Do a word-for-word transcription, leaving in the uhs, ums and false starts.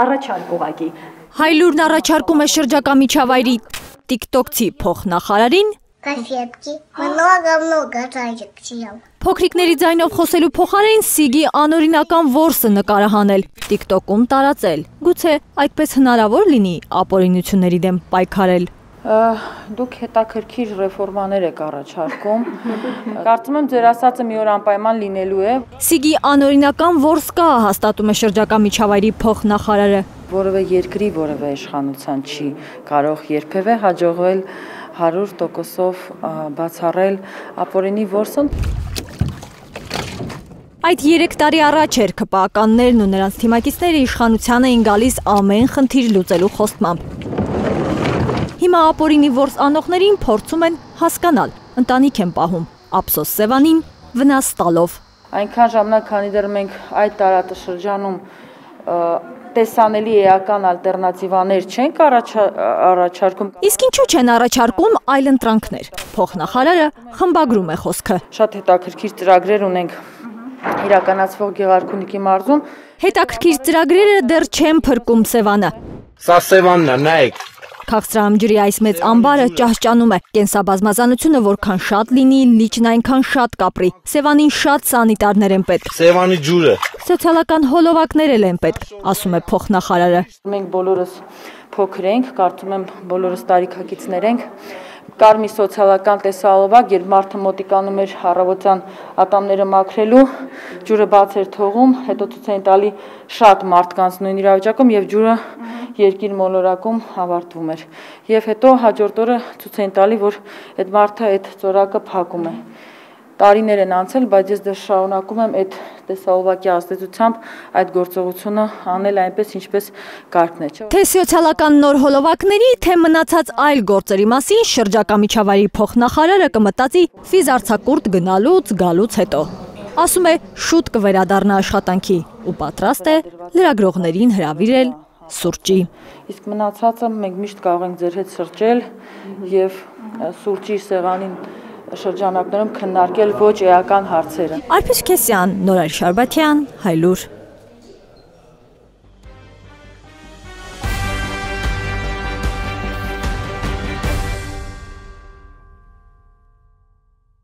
Առաջարկ ուղղակի։ Հայլուրն առաջարկում է շրջակա միջավայրի տիկտոկցի փոխնախարարին Конфетки. Много-много разных съел. Փոքրիկների ձայնով խոսելու փոխարեն Սիգի անօրինական որսը նկարահանել, տիկտոկում տարածել։ Գուցե այդպես հնարավոր լինի ապօրինությունների դեմ պայքարել։ Դուք հետաքրքիր ռեֆորմաներ եք առաջարկում։ Կարծում եմ ձեր ասածը մի օր անպայման լինելու է։ Սիգի անօրինական որս կա, հաստատում է շրջակա միջավայրի փոխնախարարը։ Որևէ երկրի որևէ իշխանության չի կարող երբևէ հաջողվել հարյուր տոկոսով բացառել ապօրինի որսն։ Այդ երեք տարի առաջ էր ՔՊԱ-ականներն ու նրանց թիմակիցները իշխանության էին գալիս ամեն խնդիր լուծելու խոստմամբ։ Հիմա ապօրինի որս անողներին փորձում են հասկանալ, ընտանիք են պահում, ափսոս Սևանին վնաս տալով։ Այնքան ժամանակ, քանի դեռ մենք այդ տարածաշրջանում տեսանելի էական ալտերնատիվաներ չենք առաջարկում։ Իսկ ինչու չեն առաջարկում այլ ընտրանքներ։ Փոխնախարարը խմբագրում է խոսքը։ Շատ հետաքրքիր ծրագրեր ունենք իրականացվող Գեղարքունիքի մարզում։ Հետաքրքիր ծրագրերը դեռ չեն փրկում Սևանը։ Սա Սևանն է, նայեք։ Քաղցրահամջրի այս մեծ ամբարը ճահճանում է, կենսաբազմազանությունը որքան շատ լինի, լիճն այնքան շատ կապրի, Սևանին շատ սանիտարներ են պետք։ Սևանի ջուրը։ Սոցիալական հոլովակներ էլ են պետք, ասում է փոխնախարարը։ Մենք բոլորս փոքր ենք, կարծում եմ բոլորս տարիքակիցներ ենք։ Կար մի սոցիալական տեսահոլովակ, երբ մարդը մոտիկանում էր առավոտյան ատամները մաքրելու, ջուրը բաց էր թողում, հետո ցույց էին տալի շատ մարդկանց նույն իրավիճակում եւ ջուրը երկիր մոլորակում ավարտվում էր։ Եվ հետո հաջորդ օրը ցույց էին տալի, որ այդ մարդը այդ ծորակը փակում է։ Տարիներ են անցել, բայց ես դեռ շարունակում եմ այդ տեսահոլովակի ազդեցությամբ այդ գործողությունը անել այնպես, ինչպես կարգն է, չէ՞։ Թե սոցիալական նոր հոլովակների, թե մնացած այլ գործերի մասին շրջակա միջավայրի փոխնախարարը կմտածի ֆիզարցակուրտ գնալուց գալուց հետո։ Ասում է շուտ կվերադառնա աշխատանքի ու պատրաստ է լրագրողներին հրավիրել սուրճի։ Իսկ մնացածը մենք միշտ կարող ենք ձեր հետ սրճել եւ սուրճի սեղանին շրջանակներում քննարկել ոչ էական հարցերը։ Արփիս Քեսյան, Նորայր Շարբաթյան, Հայլուր։